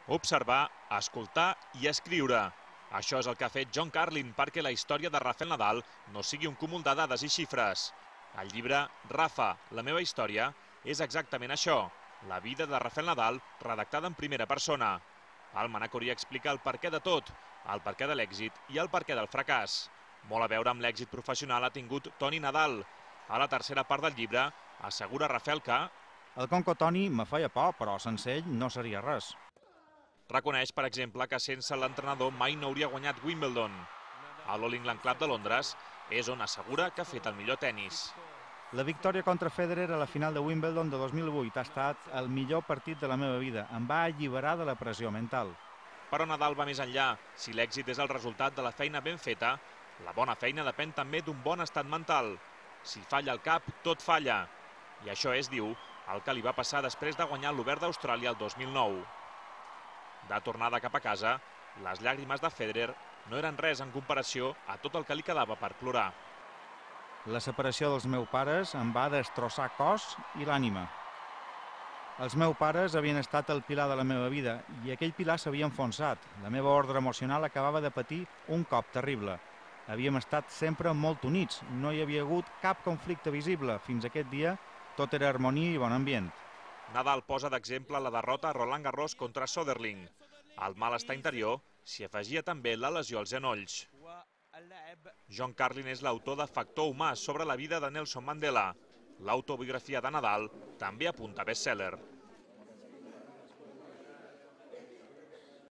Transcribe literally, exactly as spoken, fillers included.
Observar, escoltar i escriure. Això és el que ha fet John Carlin perquè la història de Rafael Nadal no sigui un cúmul de dades i xifres. El llibre Rafa, la meva història, és exactament això, la vida de Rafael Nadal redactada en primera persona. El Manacori explica el perquè de tot, el perquè de l'èxit i el perquè del fracàs. Molt a veure amb l'èxit professional ha tingut Toni Nadal. A la tercera part del llibre assegura Rafael que el Conco Toni me feia por, però sense ell no seria res. Reconeix, per exemple, que sense l'entrenador mai no hauria guanyat Wimbledon. A l'All England Club de Londres és on assegura que ha fet el millor tennis. La victòria contra Federer a la final de Wimbledon de dos mil vuit ha estat el millor partit de la meva vida. Em va alliberar de la pressió mental. Però Nadal va més enllà. Si l'èxit és el resultat de la feina ben feta, la bona feina depèn també d'un bon estat mental. Si falla el cap, tot falla. I això és, diu, el que li va passar després de guanyar l'Obert d'Austràlia el dos mil nou. De tornada cap a casa, les llàgrimes de Federer no eren res en comparació a tot el que li quedava per plorar. La separació dels meus pares em va destrossar cos i l'ànima. Els meus pares havien estat el pilar de la meva vida i aquell pilar s'havia enfonsat. La meva ordre emocional acabava de patir un cop terrible. Havíem estat sempre molt units, no hi havia hagut cap conflicte visible. Fins aquest dia tot era harmonia i bon ambient. Nadal posa d'exemple la derrota a Roland Garros contra Soderling. Al malestar interior s'hi afegia també la lesió als genolls. John Carlin és l'autor de Factor humà sobre la vida de Nelson Mandela. L'autobiografia de Nadal també apunta best-seller.